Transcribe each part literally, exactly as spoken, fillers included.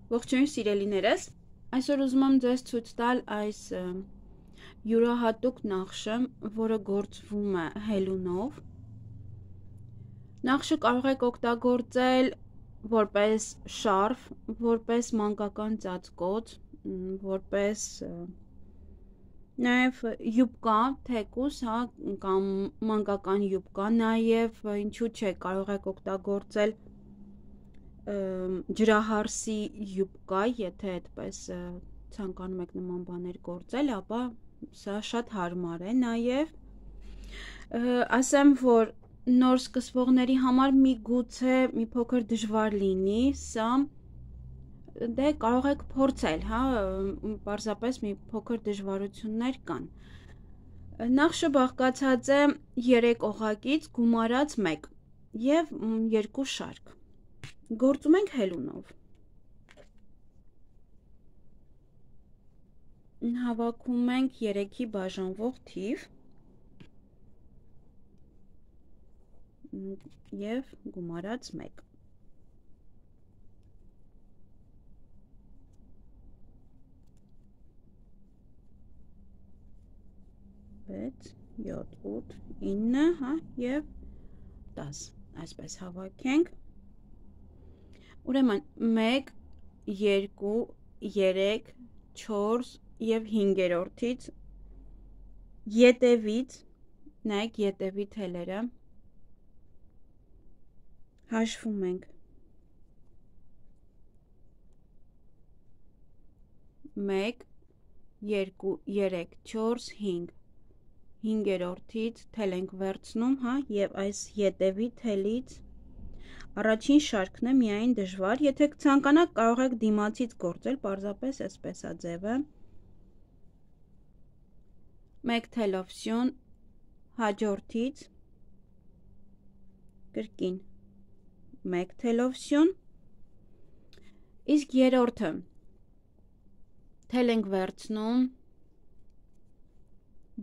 Ողջույն սիրելիներս, այսօր ուզում եմ ձեզ ցույց տալ այս յուրահատուկ նախշը, որը գործվում է հելունով։ Նախշը կարող եք օգտագործել որպես շարֆ, որպես մանկական ծածկոց, որպես նաև յուբկա, թեկուս, հա, կամ մանկական յուբկա, նաև ինչու՞ չէ, կարող եք օգտագործել ջրահարսի յուբկա, եթե այդպես ցանկանում եք նման բաներ գործել, ապա սա շատ հարմար է։ Նաև ասեմ, որ նոր սկսվողների համար միգուցե մի փոքր դժվար լինի սա, դե կարող եք փորձել, հա, պարզապես մի փոքր դժվարություններ կան։ Նախշը բաղկացած է երեք օղակից գումարած մեկ և երկու շարք։ Գործում ենք հելունով։ Հավաքում ենք երեքի բաժանվող թիվ և գումարած մեկ։ վեց, յոթ, ութ, ինը, հա, և դաս, այսպես հավաքենք։ Ուրեմն մեկ, երկու, երեք, չորս և հինգերորդից ետևից, նայեք ետևի թելերը, հաշվում ենք մեկ, երկու, երեք, չորս, հինգ, հինգերորդից թել ենք վերցնում, հա, և այս ետևի թելից առաջին շարքն է միայն դժվար, եթե ցանկանաք կարող եք դիմացից գործել, պարզապես այսպես է ձևը, մեկ թելով սյուն, հաջորդից կրկին մեկ թելով սյուն, իսկ երրորդը թել ենք վերցնում,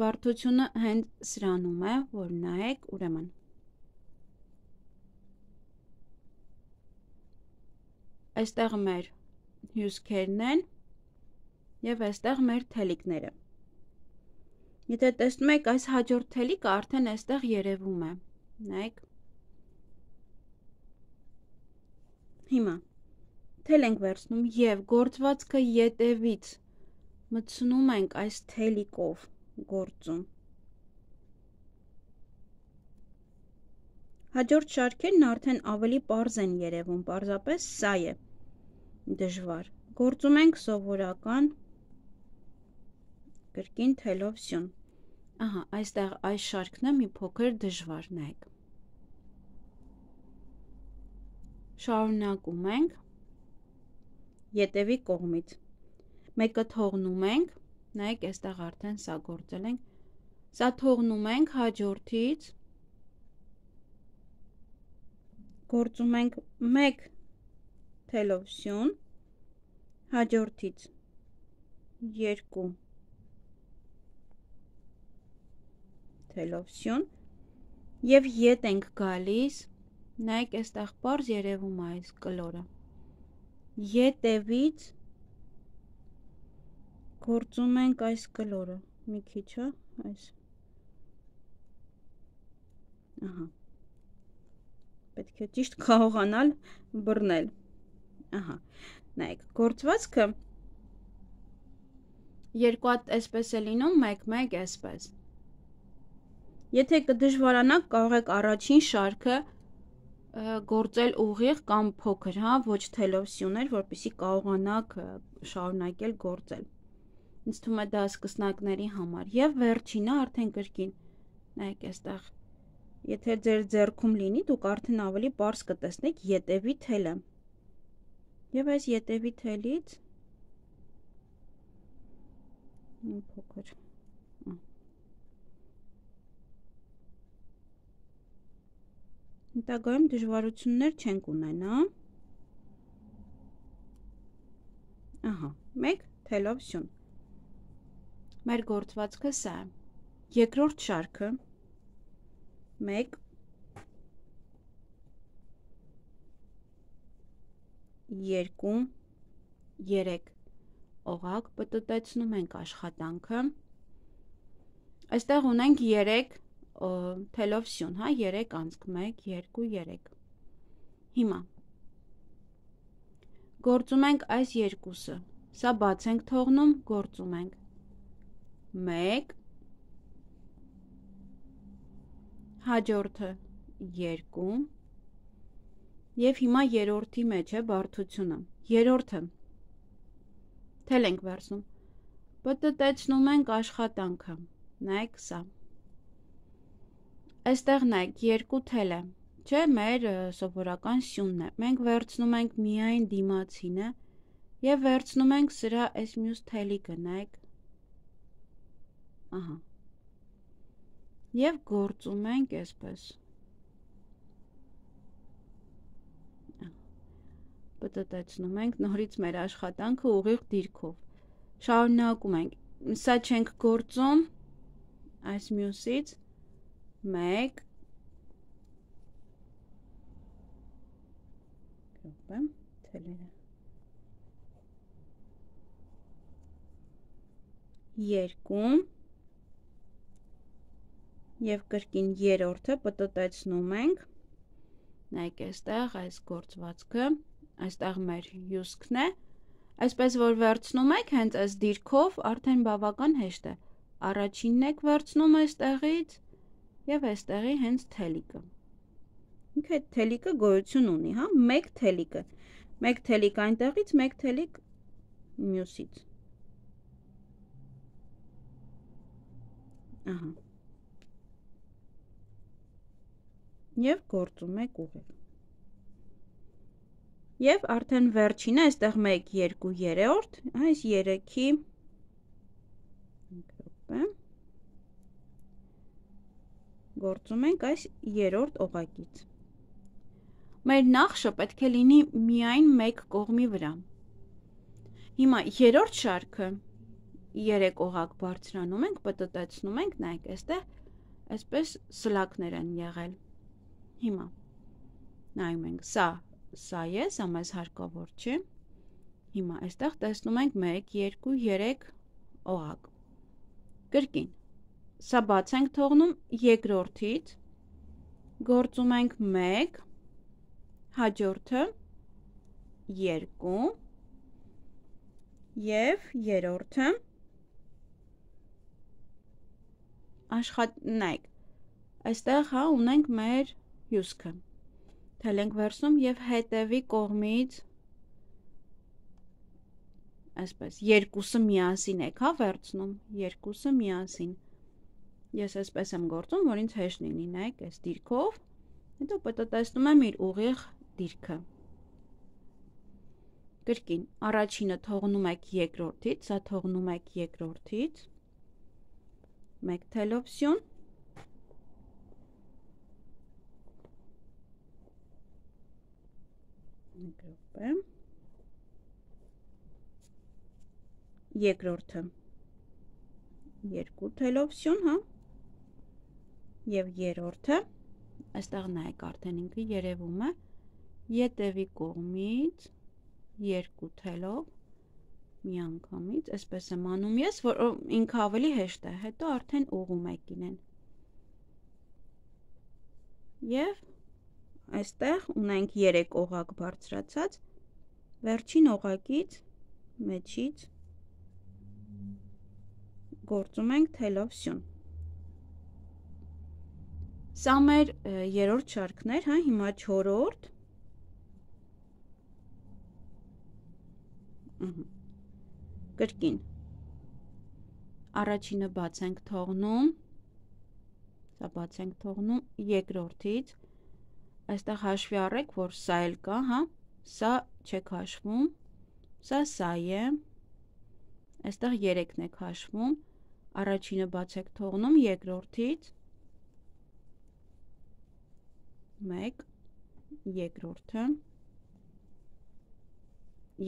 բարդությունը հենց սրանում է, որ նայեք, ուրեմն այստեղ մեր հյուսքերն են և այստեղ մեր թելիկները։ Եթե տեսնում եք, այս հաջորդ թելիկը արդեն այստեղ երևում է, նայեք։ Հիմա թել ենք վերցնում և գործվածքը ետևից մտցնում ենք այս թելիկով գործում։ Հաջորդ շարքերն արդեն ավելի պարզ են երևում, պարզապես սա է դժվար։ Գործում ենք սովորական կրկին թելով սյուն։ Ահա, այստեղ այս շարքն է մի փոքր դժվար, նայեք։ Շարունակում ենք ետևի կողմից։ Մեկը թողնում ենք, նայեք, այստեղ արդեն սա գործել ենք, սա թողնում ենք հաջորդից, գործում ենք մեկ թելով սյուն, հաջորդից երկու թելով սյուն և ետ ենք գալիս, նայեք, այստեղ պարզ երևում է այս կլորը, ետևից գործում ենք այս կլորը, մի քիչ, հա, այս, ահա, պետք է ճիշտ կարողանալ բռնել, ահա, նայեք, գործվածքը երկու հատ այսպես է լինում, մեկ, մեկ, այսպես։ Եթե կդժվարանաք, կարող եք առաջին շարքը գործել ուղիղ կամ փոքր, հա, ոչ թելով սյուներ, որպեսզի կարողանաք շարունակել գործել։ Ինձ թվում է դա սկսնակների համար, և վերջինը արդեն կրկին, նայեք այստեղ, եթե ձեր ձեռքում լինի, դուք արդեն ավելի պարզ կտեսնեք ետևի թելը։ Եվ այս ետևի թելից մի փոքր հետագայում դժվարություններ չենք ունենա։ Ահա, մեկ թելով սյուն։ Մեր գործվածքը սա է։ Երկրորդ շարքը մեկ երկու երեք օղակ, պտտեցնում ենք աշխատանքը, այստեղ ունենք երեք թելով սյուն, հա, երեք անցք, մեկ, երկու, երեք, հիմա, գործում ենք այս երկուսը, սա բաց ենք թողնում, գործում ենք, մեկ, հաջորդը երկու, և հիմա երորդի մեջ է բարդությունը, երորդը, թել ենք վերցնում, պտտեցնում ենք աշխատանքը, նայեք սա, այստեղ նայեք երկու թել է, չէ, մեր սովորական սյունն է, մենք վերցնում ենք միայն դիմացինը և վերցնում ենք սրա այս մյուս թելիկը, նայեք, ահա, և գործում ենք այսպես, պտտեցնում ենք նորից մեր աշխատանքը ուղիղ դիրքով, շարունակում ենք, սա չենք գործում, այս մյուսից, մեկ, երկու, և կրկին երորդը պտտեցնում ենք, նայք այստեղ այս գործվածքը, այստեղ մեր հյուսքն է, այսպես որ վերցնում եք հենց այս դիրքով արդեն բավական հեշտ է, առաջինն եք վերցնում այստեղից և այստեղի հենց թելիկը, ինքը այդ թելիկը գոյություն ունի, հա, մեկ թելիկը, մեկ թելիկ այնտեղից, մեկ թելիկ մյուսից, ահա, և գործում եք ուղիղ, և արդեն վերջինը, այստեղ մեկ, երկու, երորդ, այս երեքի, գործում ենք այս երորդ օղակից, մեր նախշը պետք է լինի միայն մեկ կողմի վրա, հիմա երորդ շարքը, երեք օղակ բարձրանում ենք, պտտեցնում ենք, նայեք այստեղ, այսպես սլակներ են եղել, հիմա, նայում ենք, սա, սա է, սա մեզ հարկավոր չէ, հիմա այստեղ տեսնում ենք մեկ, երկու, երեք օղակ, կրկին, սա բաց ենք թողնում երկրորդից, գործում ենք մեկ, հաջորդը երկու, և երորդը, աշխատ, նայք, այստեղ հա ունենք մեր հյուսքը, թել ենք վերցնում և հետևի կողմից, այսպես, երկուսը միասին եք հա վերցնում, երկուսը միասին, ես այսպես եմ գործում, որ ինձ հեշտ լինի, նայք, այս դիրքով, հետո պտտեցնում եմ իր ուղիղ դիրքը, կրկին, առաջինը թողնում եք երկրորդից, սա թողնում եք երկրորդից, մեկ թելով սյուն, երկրորդը, երկու թելով սյուն, հա, և երորդը, այստեղ նայեք արդեն ինքը երևում է, ետևի կողմից, երկու թելով, մի անգամից, այսպես եմ անում ես, որ ինքը ավելի հեշտ է, հետո արդեն ուղում եք ինեն, և այստեղ ունենք երեք օղակ բարձրացած, վերջին օղակից, մեջից, գործում ենք թելով սյուն, սա մեր երորդ շարքներ, հա, հիմա չորրորդ, կրկին, առաջինը բաց ենք թողնում, սա բաց ենք թողնում երկրորդից, այստեղ հաշվի առեք, որ սա էլ կա, հա, սա չեք հաշվում, սա սա է, այստեղ երեքն եք հաշվում, առաջինը բաց եք թողնում երկրորդից, մեկ, երկրորդը,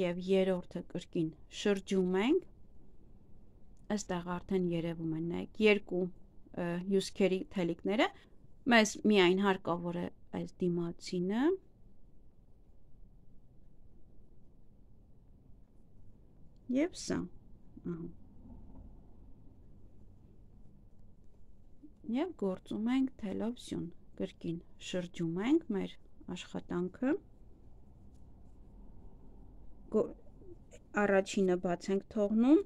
և երորդը կրկին շրջում ենք, այստեղ արդեն երևում են, նայեք, երկու հյուսքերի թելիկները, մեզ միայն հարկավոր է այս դիմացինը, Եվ սա։ Եվ գործում ենք թելով սյուն, կրկին շրջում ենք մեր աշխատանքը, առաջինը բաց ենք թողնում,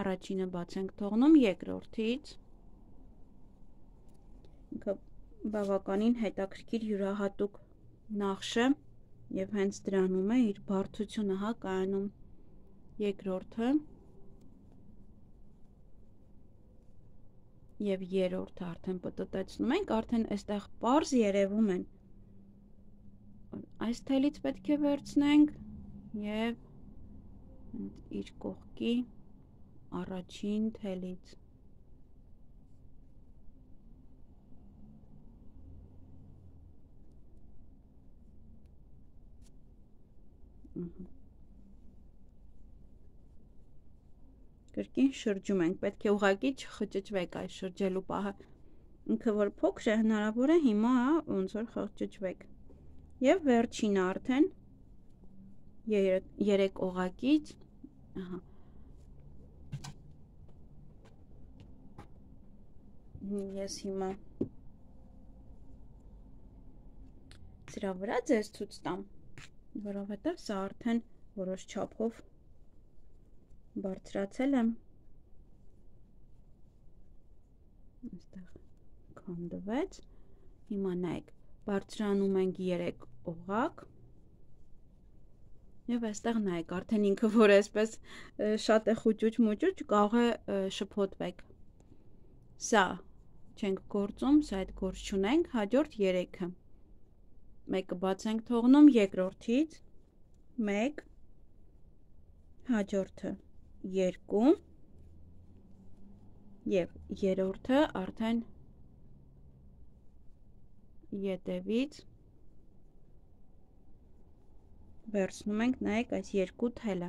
առաջինը բաց ենք թողնում երկրորդից, ինքը բավականին հետաքրքիր յուրահատուկ նախշ է և հենց դրանում է իր բարդությունը հա կայանում, երկրորդը և երրորդը արդեն պտտեցնում ենք, արդեն այստեղ պարզ երևում են, այս թելից պետք է վերցնենք և իր կողքի առաջին թելից կրկին շրջում ենք, պետք է ուղղակի չխճճվեք այս շրջելու պահը, ինքը որ փոքր է հնարավոր է հիմա ոնց որ խճճվեք և վերջինը արդեն երեք օղակից ես հիմա սրա վրա ձեզ ցույց տամ, որովհետև սա արդեն որոշ չափով բարձրացել եմ, այստեղ քանդվեց, հիմա նայեք, բարձրանում ենք երեք օղակ և այստեղ նայեք, արդեն ինքը որ այսպես շատ է խուճուճ մուճուճ, կարող է շփոթվեք, սա չենք գործում, սա այդ գործ չունենք, հաջորդ երեքը, մեկը բաց ենք թողնում երկրորդից, մեկ, հաջորդը երկու և երրորդը արդեն ետևից վերցնում ենք, նայեք այս երկու թելը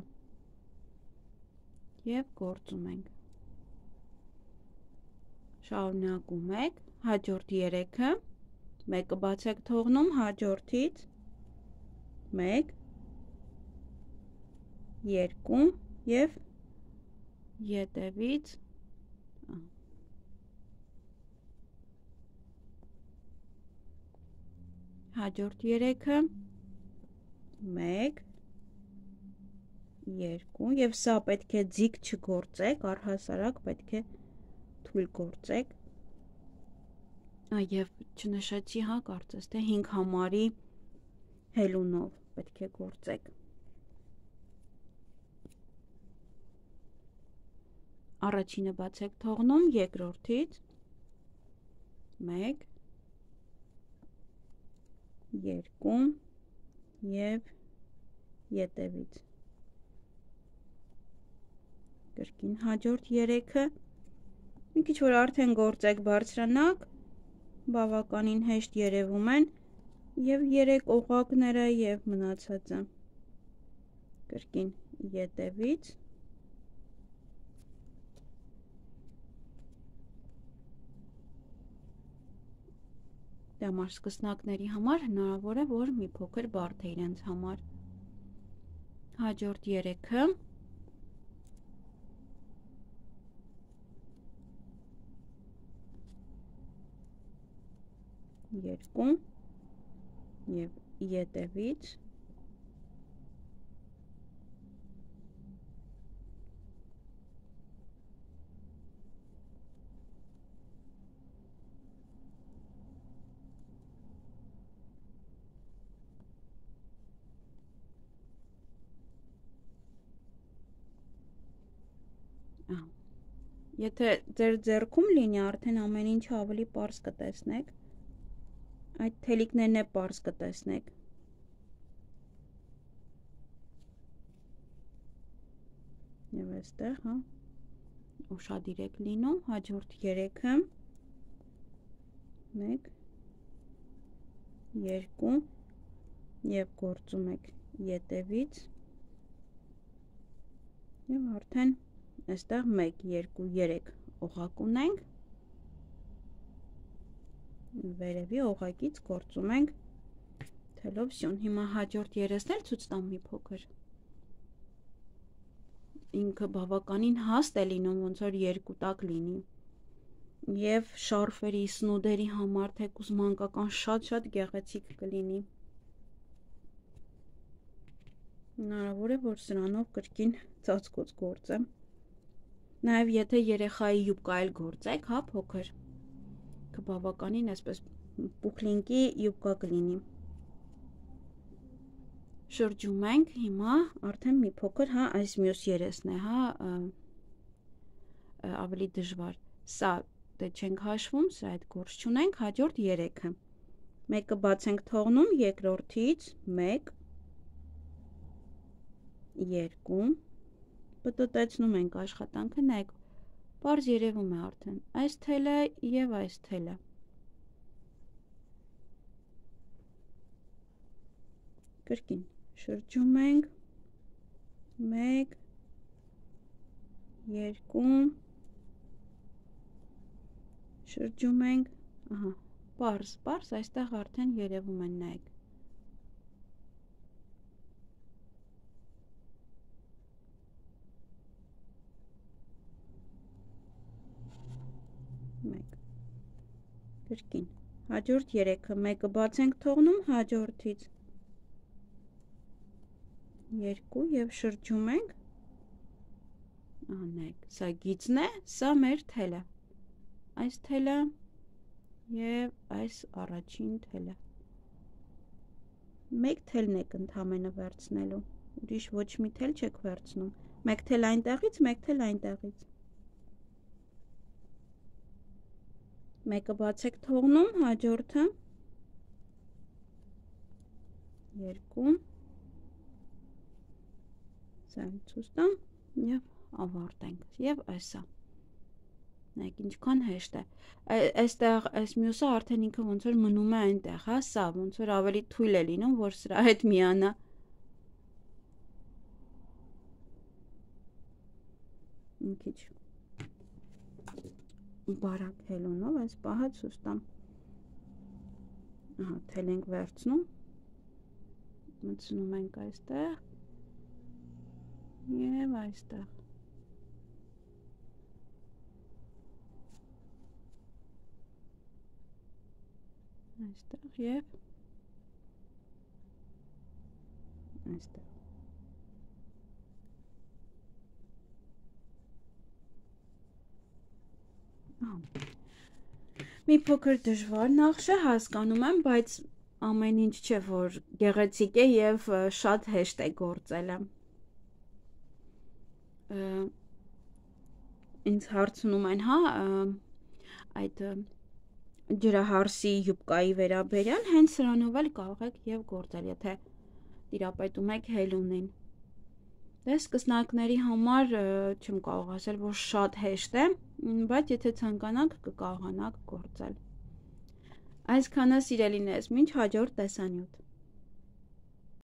և գործում ենք, շարունակում եք, հաջորդ երեքը, մեկը բաց եք թողնում, հաջորդից, մեկ, երկու և ետևից հաջորդ երեքը, մեկ, երկու և սա պետք է ձիգ չգործեք, առհասարակ պետք է թույլ գործեք և չնշեցի հա կարծես թե հինգ համարի հելունով պետք է գործեք, առաջինը բաց եք թողնում երկրորդից, մեկ, երկու և ետևից, կրկին հաջորդ երեքը, մի քիչ որ արդեն գործեք բարձրանաք, բավականին հեշտ երևում են և երեք օղակները և մնացածը, կրկին ետևից, դամարսկսնակների համար հնարավոր է, որ մի փոքր բարդ է իրենց համար, հաջորդ երեքը, երկու և ետևից, եթե ձեր ձեռքում լինի, արդեն ամեն ինչ ավելի պարզ կտեսնեք, այդ թելիկներն է պարզ կտեսնեք, և այստեղ, հա, ուշադիր եք լինում, հաջորդ երեքը, մեկ, երկու և գործում եք ետևից և արդեն այստեղ մեկ, երկու, երեք օղակ ունենք, վերևի օղակից գործում ենք Թելովսյուն, հիմա հաջորդ երեսն էլ ցույց տամ մի փոքր։ Ինքը բավականին հաստ է լինում, ոնց որ երկու տակ լինի։ Եվ շարֆերի, սնուդերի համար թեկուզ մանկական շատ-շատ գեղեցիկ կլինի։ Հնարավոր է, որ սրանով կրկին ծածկոց գործեմ։ Նաև եթե երեխայի յուբկա էլ գործեք, հա, փոքր, կբավականին այսպես պուխլինկի յուբկա կլինի։ Շրջում ենք, հիմա արդեն մի փոքր, հա, այս մյուս երեսն է, հա, ավելի դժվար։ Սա դե չենք հաշվում, սա այդ գործ չունենք, հաջորդ երեքը։ Մեկը բաց ենք թողնում, երկրորդից մեկ, երկու, պտտեցնում ենք աշխատանքը, նայեք, պարզ երևում է արդեն, այս թելը և այս թելը։ Կրկին, շրջում ենք, մեկ, երկու, շրջում ենք, ահա, պարզ, պարզ, այստեղ արդեն երևում են, նայեք։ Մեկ, կրկին, հաջորդ երեքը, մեկը բաց ենք թողնում, հաջորդից երկու և շրջում ենք, անեք, սա գիծն է, սա մեր թելը, այս թելը և այս առաջին թելը, մեկ թելն եք ընդամենը վերցնելու, ուրիշ ոչ մի թել չեք վերցնում, մեկ թել այնտեղից, մեկ թել այնտեղից, մեկը բաց եք թողնում, հաջորդը, երկու, ցույց տամ և ավարտենք և այսա, նայեք ինչքան հեշտ է, այստեղ այս մյուսը արդեն ինքը ոնց որ մնում է այնտեղ, հա, սա ոնց որ ավելի թույլ է լինում, որ սրա հետ միանա, մի քիչ բարակ հելունով այս պահը ցույց տամ, ահա, թել ենք վերցնում, մտցնում ենք այստեղ, և այստեղ, այստեղ և այստեղ, մի փոքր դժվար նախշ է, հասկանում եմ, բայց ամեն ինչ չէ, որ գեղեցիկ է և շատ հեշտ է գործելը։ Ինձ հարցնում են, հա, այդ ջրահարսի յուբկայի վերաբերյալ, հենց սրանով էլ կարող եք և գործել, եթե տիրապետում եք հելունին։ Դե սկսնակների համար չեմ կարող ասել, որ շատ հեշտ է, բայց եթե ցանկանաք, կկարողանաք գործել։ Այսքանը սիրելիներս, մինչ հաջորդ տեսանյութ։